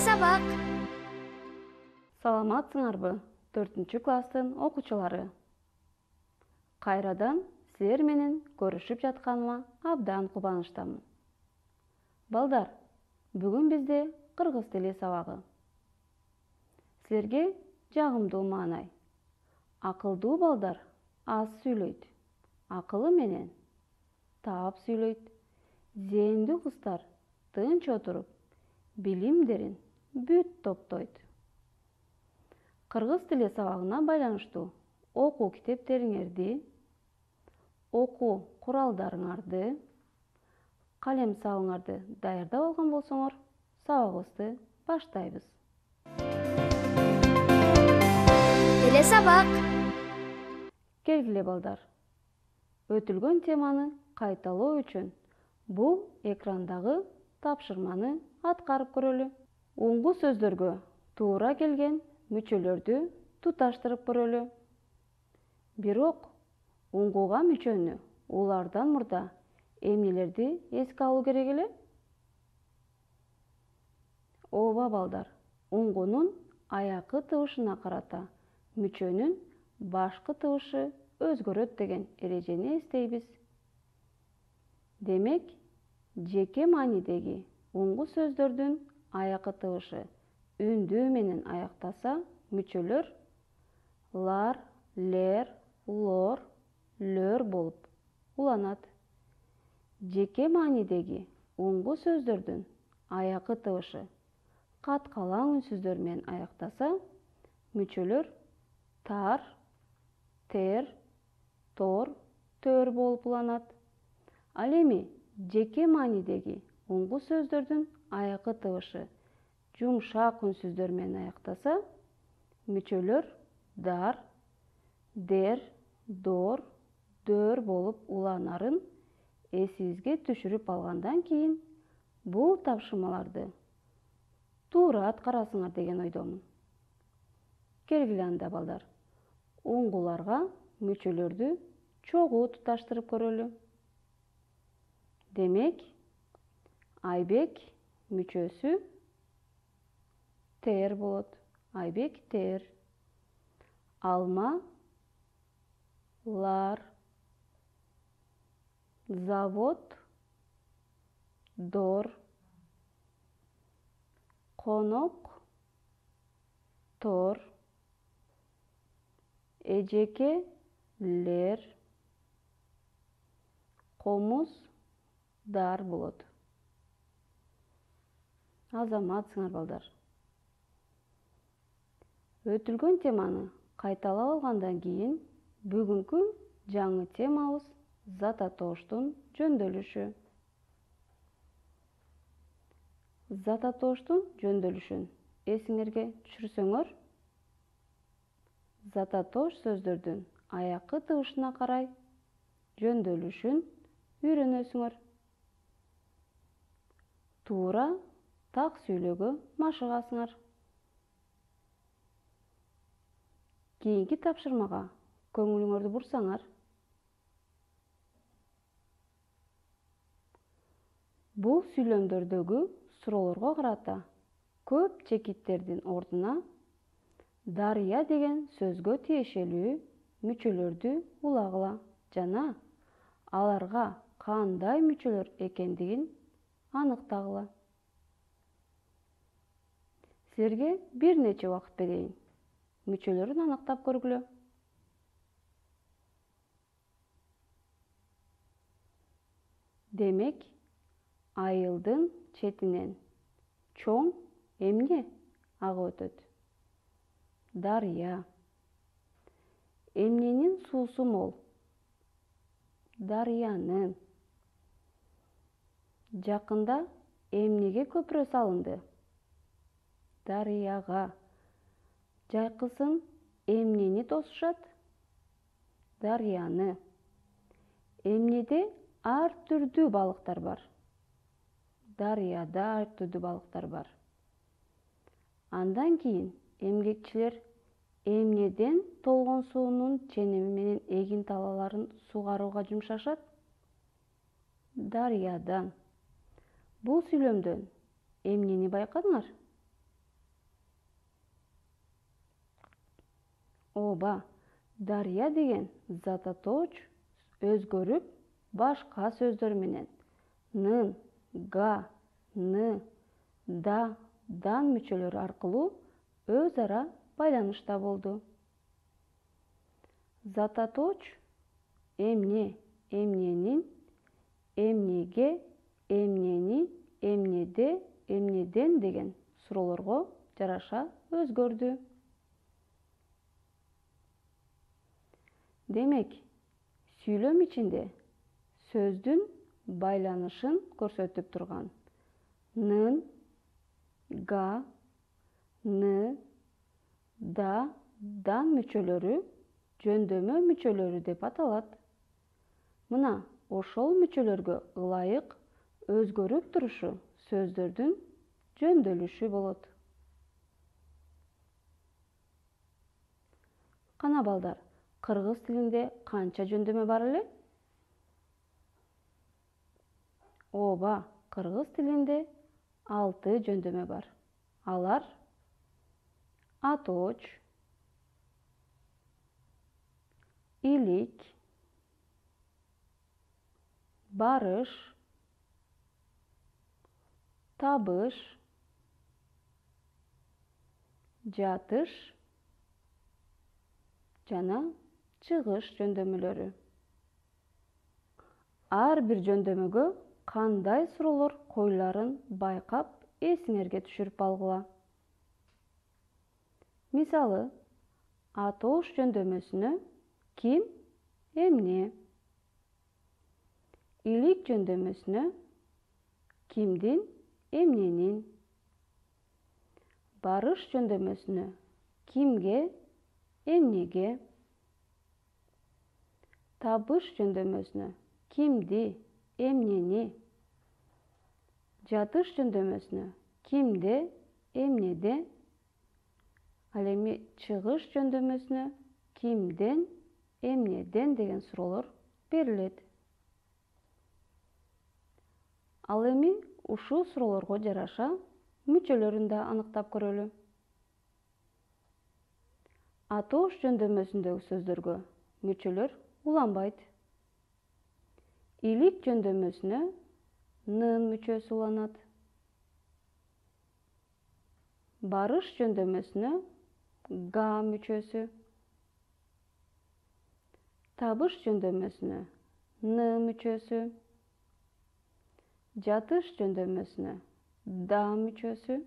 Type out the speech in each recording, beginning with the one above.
сабак. Саламатсыңарбы, 4-класстын окуучулары. Кайрадан силер менен көрүшүп жатканыма абдан кубанычтамын. Балдар, бүгүн бизде кыргыз тили сабагы. Силерге жагымдуу маанай. Акылдуу балдар аз сүйлөйт, акылы менен таап сүйлөйт. Зээндүү кыздар тынч отуруп, билимдерин бүт топтойт. Кыргыз тили сабагына байланыштуу окуу китептериңерди, окуу куралдарыңарды, калем сабыңарды даярдап алган болсоңор, сабагыбызды баштайбыз. Теле сабак. Келгиле балдар. Өтүлгөн теманы кайталоо үчүн бул экрандагы тапшырманы аткарып көрөлү. Уңгу сөздөргө туура келген мүчөлөрдү туташтырып көрөлү. Бирок уңгуга мүчөнү улардан мурда эмнелерди эске алуу керек эле? Ооба балдар, уңгунун аякы тыбышына карата мүчөнүн башкы тыбышы өзгөрөт деген эрежени эстейбиз. Демек, жеке маанидеги уңгу сөздөрдүн аякы тыбышы үндүү менен аяктаса, мүчөлөр лар, лер, лор, лөр болуп уланат. Жеке маанидеги уңгу сөздөрдүн аякы тыбышы каткалаң үнсүздөр менен аяктаса, мүчөлөр тар, тер, тор, төр болуп уланат. Ал эми жеке маанидеги уңгу сөздөрдүн аякы тыбышы жумшак үнсүздөр менен аяктаса, мүчөлөр дар, дер, дор, дөр болуп уланарын эсибизге түшүрүп алгандан кийин бул тапшырмаларды туура аткарасыңар деген ойдомун. Келгиле анда балдар, уңгуларга мүчөлөрдү чогуу туташтырып көрөлү. Демек, Айбек мүчөсү тер болот. Айбек тер. Алма лар. Завод дор. Конок тор. Эжеке лер. Комуз дар болот. Азаматсыңар балдар. Өтүлгөн теманы кайталап алгандан кийин бүгүнкү жаңы темабыз зат атооштун жөндөмүшү. Зат атооштун жөндөмүшүн эсиңерге түшүрсөңөр, зат атоош сөздөрдүн аякы тыбышына карай жөндөмүшүн үйрөнөсүңөр. Туура так сүйлөөгө машыгасыңар. Кийинки тапшырмага көңүлүңөрдү бурсаңар. Бул сүйлөмдөрдөгү суроолорго карата көп чекиттердин ордуна дарыя деген сөзгө тиешелүү мүчөлөрдү улагыла жана аларга кандай мүчөлөр экендигин аныктагыла. Силерге бир нече убакыт берейин. Мүчөлөрүн аныктап көргүлө. Демек, айылдын четинен чоң эмне агып өтөт? Дарыя. Эмненин суусу мол? Дарыянын. Жакында эмнеге көпүрө салынды? Дарыяга. Жайкысын эмнени тосушат? Дарыяны. Эмнеде ар түрдүү балыктар бар? Дарыяда ар түрдүү балыктар бар. Андан кийин эмгекчилер эмнеден толгон суунун ченеми менен эгин талааларын сугарууга жумшашат? Дарыядан. Бул сүйлөмдөн эмнени байкадыңар? Ооба, дарыя деген зататооч өзгөрүп башка сөздөр менен нын, га, ны, да, дан мүчөлөрү аркылуу өз ара байланышта болду. Зататооч эмне, эмненин, эмнеге, эмнени, эмнеде, эмнеден деген суроолорго жараша өзгөрдү. Демек, сүйлөм ичинде сөздүн байланышын көрсөтүп турган нын, га, ны, да, дан мүчөлөрү жөндөмө мүчөлөрү деп аталат. Мына ошол мүчөлөргө ылайык өзгөрүп турушу сөздөрдүн жөндөөлүшү болот. Кана балдар, кыргыз тилинде канча жөндөмө бар эле? Ооба, кыргыз тилинде 6 жөндөмө бар. Алар атооч, илик, барыш, табыш, жатыш жана чыгыш жөндөмөлөрү. Ар бир жөндөмөгө кандай суроолор коюларын байкап, эсиңерге түшүрүп алгыла. Мисалы, атоош жөндөмөсүнө ким, эмне. Илик жөндөмөсүнө кимдин, эмненин. Барыш жөндөмөсүнө кимге, эмнеге. Табыш жөндөмөсүнө кимди, эмнени. Жатыш жөндөмөсүнө кимде, эмнеде. Ал эми чыгыш жөндөмөсүнө кимден, эмнеден деген суроолор берилет. Ал эми ушул суроолорго жараша мүчөлөрүн да аныктап көрөлү. Атоош жөндөмөсүндөгү сөздөргө мүчөлөр уланбайт. Илик жөндөмөсүнө нын мүчөсү уланат. Барыш жөндөмөсүнө га мүчөсү. Табыш жөндөмөсүнө ны мүчөсү. Жатыш жөндөмөсүнө да мүчөсү.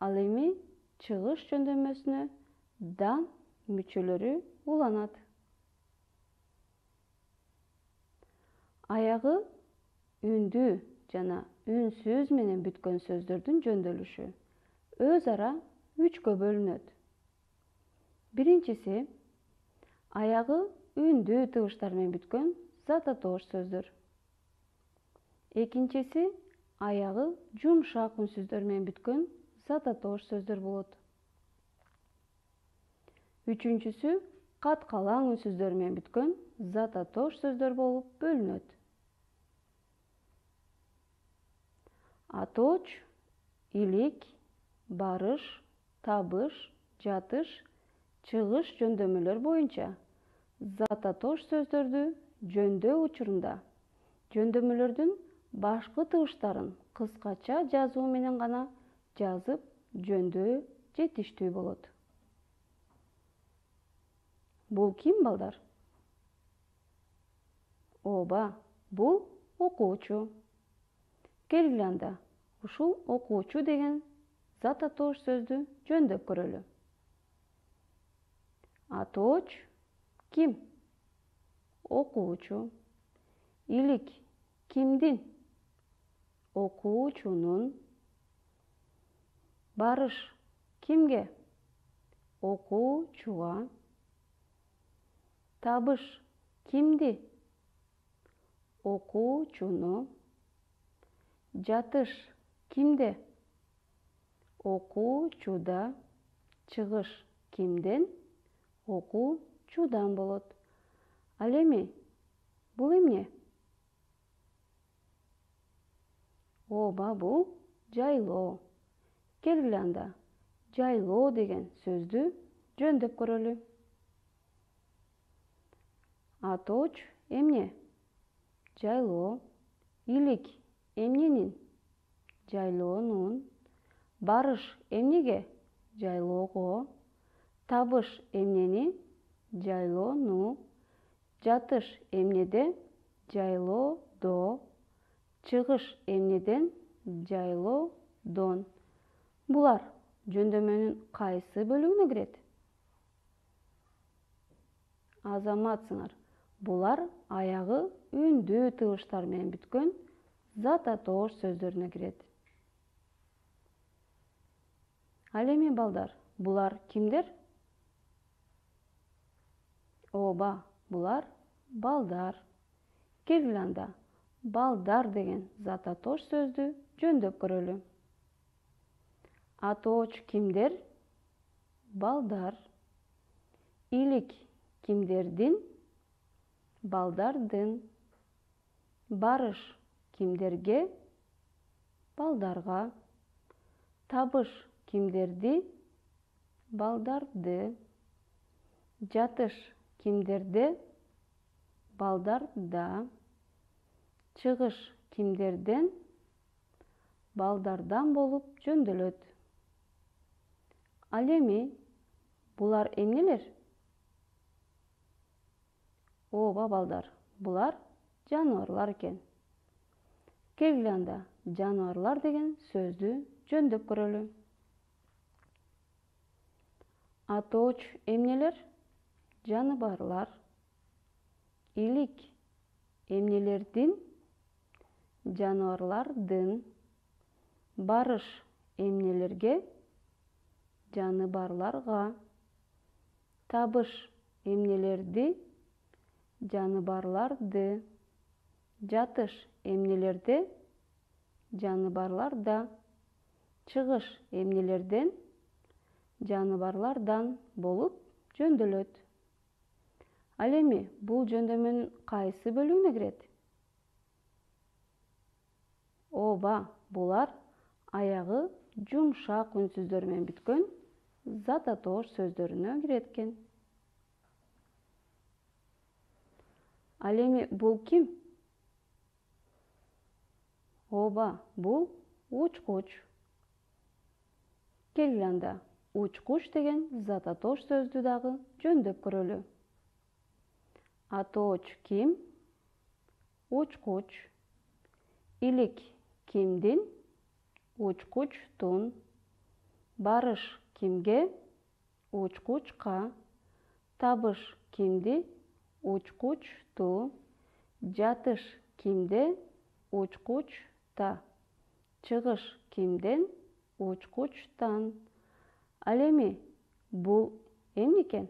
Ал эми чыгыш жөндөмөсүнө дан мүчөлөрү уланат. Аягы үндүү жана үнсүз менен бүткөн сөздөрдүн жөндөөлүшү өз ара 3кө бөлүнөт. Биринчиси аягы үндүү тыбыштар менен бүткөн зататоош сөздөр. Экинчиси аягы жумшак үнсүздөр менен бүткөн зататоош сөздөр болот. Үчүнчүсү каткалаң үнсүздөр менен бүткөн зататоош сөздөр болуп бөлүнөт. Атооч, илик, барыш, табыш, жатыш, чыгыш жөндөмөлөр боюнча зататоош сөздөрдү жөндөө учурунда жөндөмөлөрдүн башкы тыбыштарын кыскача жазуу менен гана жазып жөндөө жетиштүү болот. Бул ким, балдар? Ооба, бул окуучу. Келгиле анда, ушул окуучу деген зататоош сөздү жөндөп көрөлү. Атооч ким? Окуучу. Илик кимдин? Окуучунун. Барыш кимге? Окуучуга. Табыш кимди? Окуучуну. Жатыш кимде? Окуучуда. Чыгыш кимден? Окуучудан болот. Ал эми бул эмне? Ооба, бул жайлоо. Келгиле анда, жайлоо деген сөздү жөндөп көрөлү. Атооч эмне? Жайлоо. Илик эмненин? Жайлоонун. Барыш эмнеге? Жайлоого. Табыш эмнени? Жайлоону. Жатыш эмнеде? Жайлоодо. Чыгыш эмнеден? Жайлоодон. Булар жөндөмөнүн кайсы бөлүгүнө кирет? Азаматсыңар. Булар аягы үндүү тыбыштар менен бүткөн зататоош сөздөрүнө кирет. Ал эми балдар, булар кимдер? Ооба, булар балдар. Келгиле анда балдар деген зататоош сөздү жөндөп көрөлү. Атооч кимдер? Балдар. Илик кимдердин? Балдардын. Барыш кимдерге? Балдарга. Табыш кимдерди? Балдарды. Жатыш кимдерде? Балдарда. Чыгыш кимдерден? Балдардан болуп жөндөлөт. Ал эми булар эмнелер? Ооба балдар, булар жаныбарлар экен. Келгиле анда жаныбарлар деген сөздү жөндөп көрөлү. Атооч эмнелер? Жаныбарлар. Илик эмнелердин? Жаныбарлардын. Барыш эмнелерге? Жаныбарларга. Табыш эмнелерди? Жаныбарларды. Жатыш эмнелерде? Жаныбарларда. Чыгыш эмнелерден? Жаныбарлардан болуп жөндөлөт. Ал эми бул жөндөмөнүн кайсы бөлүгүнө кирет? Ооба, булар аягы жумшак үнсүздөр менен бүткөн зататоош сөздөрүнө кирет экен. Ал эми бул ким? Ооба, бул учкуч. Келгиле анда учкуч деген зататоош сөздү дагы жөндөп көрөлү. Атооч ким? Учкуч. Илик кимдин? Учкучтун. Барыш кимге? Учкучка. Табыш кимди? Учкучту. Жатыш кимде? Учкучта. Чыгыш кимден? Учкучтан. Ал эми бул эмне экен?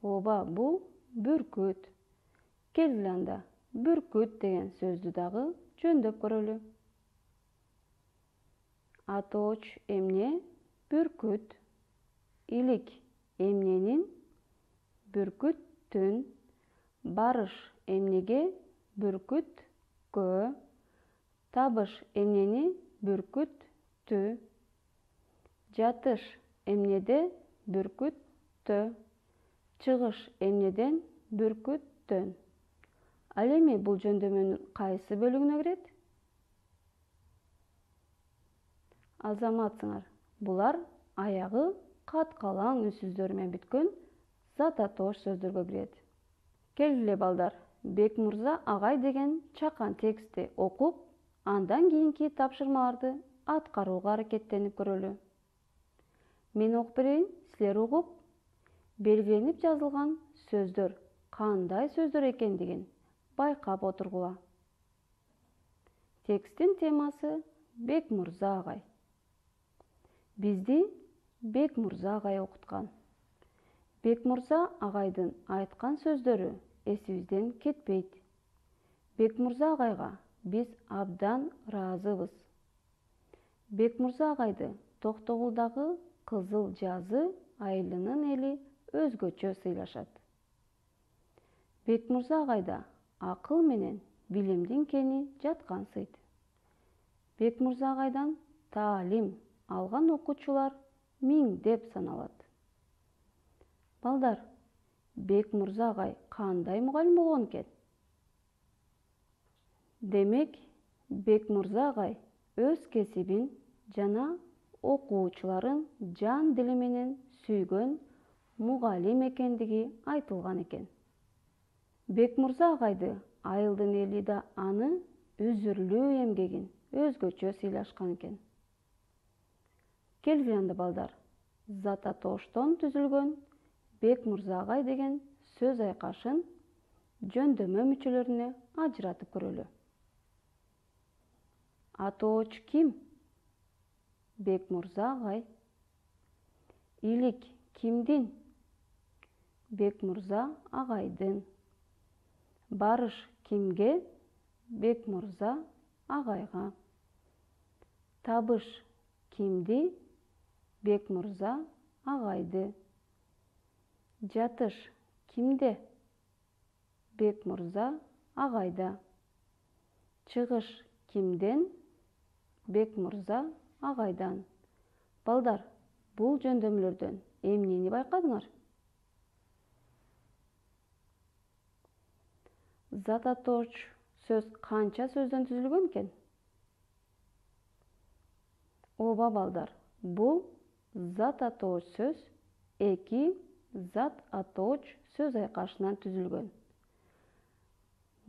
Ооба, бул бүркүт. Келгиле анда бүркүт деген сөздү дагы жөндөп көрөлү. Атооч эмне? Бүркүт. Илик эмненин? Бүркүттүн. Барыш эмнеге? Бүркүткө. Табыш эмнени? Бүркүттү. Жатыш эмнеде? Бүркүттө. Чыгыш эмнеден? Бүркүттөн. Ал эми бул жөндөмөнүн кайсы бөлүгүнө кирет? Азаматсыңар. Булар аягы каткалаң үнсүздөр менен бүткөн зататоош сөздөргө кирет. Келгиле балдар, Бекмырза агай деген чакан текстти окуп, андан кийинки тапшырмаларды аткарууга аракеттенип көрөлү. Мен окуп берейин, силер угуп, белгиленип жазылган сөздөр кандай сөздөр экендигин байкап отургула. Тексттин темасы Бекмырза агай. Бизди Бекмырза агай окуткан. Бекмырза агайдын айткан сөздөрү эсибизден кетпейт. Бекмырза агайга биз абдан ыраазыбыз. Бекмырза агайды Токтогулдагы Кызыл Жазы айылынын эли өзгөчө сыйлашат. Бекмырза агайда акыл менен билимдин кени жаткансыйт. Бекмырза агайдан таалим алган окуучулар 1000 деп саналат. Балдар, Бек мырза агай кандай мугалим болгон экен? Демек, Бек мырза агай өз кесибин жана окуучуларын жан дили менен сүйгөн мугалим экендиги айтылган экен. Бек мырза агайды айылдын эли да аны үзүрлүү эмгегин өзгөчө сыйлашкан экен. Келгиле анда балдар, Зататоштон түзүлгөн Бек мырза агай деген сөз айкашын жөндөмө мүчөлөрүнө ажыратып көрөлү. Атооч ким? Бек мырза агай. Илик кимдин? Бек мырза агайдын. Барыш кимге? Бек мырза агайга. Табыш кимди? Бек мырза агайды. Жатыш кимде? Бек мырза агайда. Чыгыш кимден? Бек мырза агайдан. Балдар, бул жөндөмлөрдөн эмнени байкадыңар? Зататоч сөз канча сөздөн түзүлгөн экен? Ооба балдар, бул зататооч сөз эки зат-атооч сөз айкашынан түзүлгөн.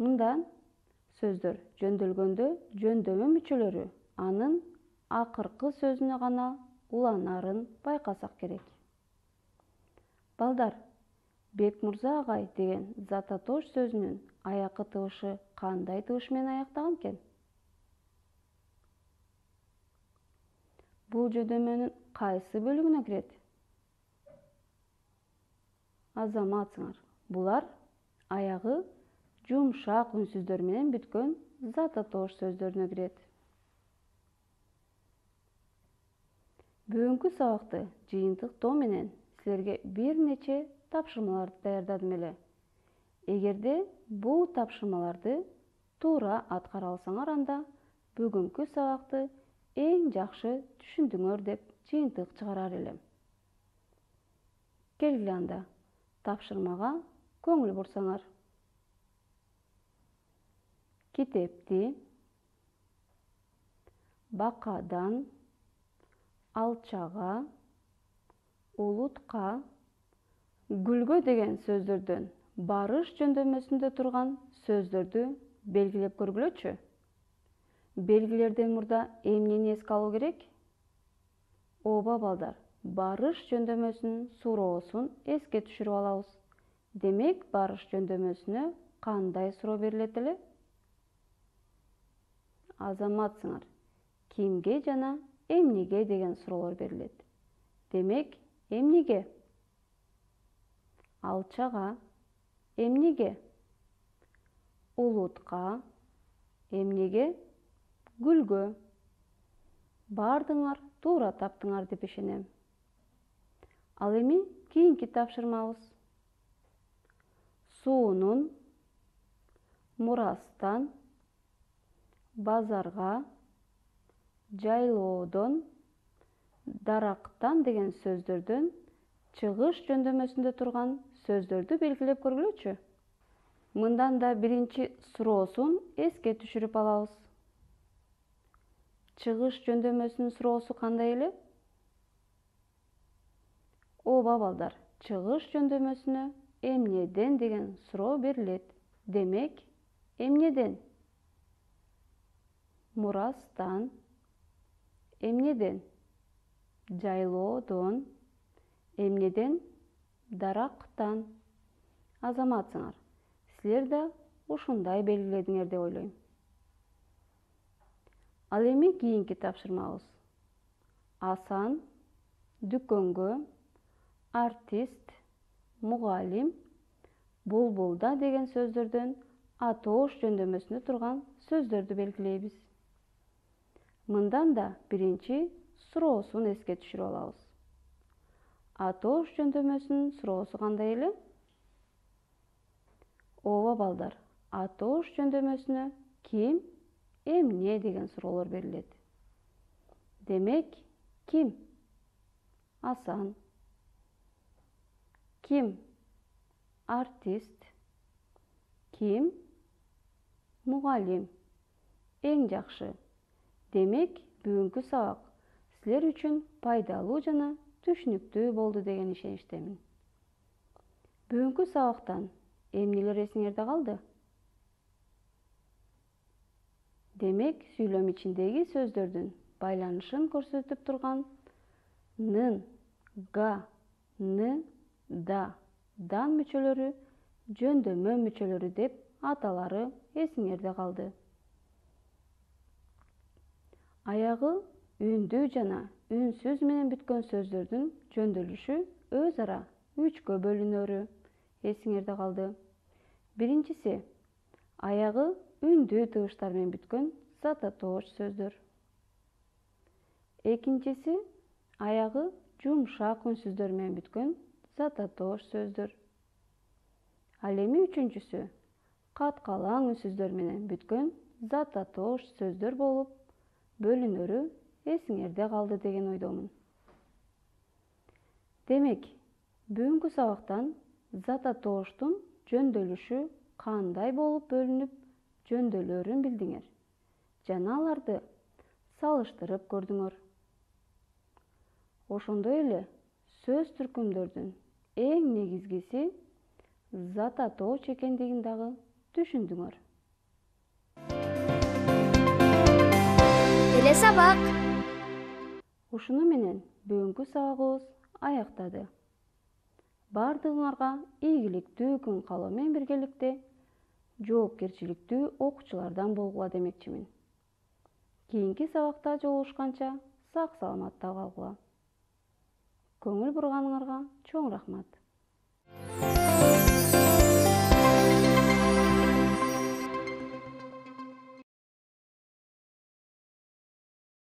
Мындан сөздөр жөндөлгөндө жөндөмө мүчөлөрү анын акыркы сөзүнө гана уланарын байкасак керек. Балдар, Бек мырза агай деген зататоч сөзүнүн аякы тыбышы кандай тыбыш менен аяктаган экен? Бул жөндөмөнүн кайсы бөлүгүнө кирет? Азаматсыңар. Булар аягы жумшак үнсүздөр менен бүткөн зататош сөздөрүнө кирет. Бүгүнкү сабакты жыйынтыктоо менен силерге бир нече тапшырмаларды даярдадым эле. Эгерде бул тапшырмаларды туура аткара алсаңар, анда бүгүнкү сабакты эң жакшы түшүндүңөр деп жыйынтык чыгарар элем. Келгиле анда тапшырмага көңүл бурсаңар. Китепти бакадан, алчага, улутка, гүлгө деген сөздөрдөн барыш жөндөмөсүндө турган сөздөрдү белгилеп көргүлөчү. Белгилерден мурда эмнени эске алуу керек? Ооба балдар, барыш жөндөмөсүнүн суроосун эске түшүрүп алабыз. Демек, барыш жөндөмөсүнө кандай суроо берилет эле? Азаматсыңар. Кимге жана эмнеге деген суроолор берилет. Демек, эмнеге? Алчага. Эмнеге? Улутка. Эмнеге? Гүлгө. Бардыңар туура таптыңар деп ишенем. Ал эми кийинки тапшырмабыз. Суунун, мурастан, базарга, жайлоодон, дарактан деген сөздөрдөн чыгыш жөндөмөсүндө турган сөздөрдү белгилеп көргүлөчү. Мындан да биринчи суроосун эске түшүрүп алабыз. Чыгыш жөндөмөсүнүн суроосу кандай эле? Ооба балдар, чыгыш жөндөмөсүнө эмнеден деген суроо берилет. Демек, эмнеден? Мурастан. Эмнеден? Жайлоодон. Эмнеден? Дарактан. Азаматсыңар, силер да ушундай белгиледиңер деп ойлойм. Ал эми кийинки тапшырмабыз. Асан, дүкөнгө, артист, мугалим, булбулда деген сөздөрдөн атоош жөндөмөсүндө турган сөздөрдү белгилейбиз. Мындан да биринчи суроосун эске түшүрүп алабыз. Атоош жөндөмөсүнүн суроосу кандай эле? Ооба балдар, атоош жөндөмөсүнө ким, эмне деген суроолор берилет. Демек, ким? асан. Ким? Артист. Ким? Мугалим. Эң жакшы. Демек, бүгүнкү сабак силер үчүн пайдалуу жана түшүнүктүү болду деген ишеничтемин. Бүгүнкү сабактан эмнелер эсиңерде калды? Демек, сүйлөм ичиндеги сөздөрдүн байланышын көрсөтүп турган нын, га, ны, да, дан мүчөлөрү жөндөмө мүчөлөрү деп аталары эсиңерде калды. Аягы үндүү жана үнсүз менен бүткөн сөздөрдүн жөндөөлүшү өз ара үчкө бөлүнөрү эсиңерде калды. Биринчиси, аягы үндүү тыбыштар менен бүткөн зататооч сөздөр. Экинчиси, аягы жумшак үнсүздөр менен бүткөн зататооч сөздөр. Ал эми үчүнчүсү, каткалаң үнсүздөр менен бүткөн зататооч сөздөр болуп бөлүнөрү эсиңерде калды деген ойдомун. Демек, бүгүнкү сабактан зататооштун жөндөөлүшү кандай болуп бөлүнүп жөндөөлөрүн билдиңер жана аларды салыштырып көрдүңөр. Ошондой эле сөз түркүмдөрдүн эң негизгиси зататооч экендигин дагы түшүндүңөр. Телесабак. Ушуну менен бүгүнкү сабагыбыз аяктады. Бардыгыңарга ийгиликтүү күн каалоо менен биргеликте жоопкерчиликтүү окуучулардан болгула демекчимин. Кийинки сабакта жолугушканча сак саламатта калгыла. Көңүл бурганыңарга чоң рахмат.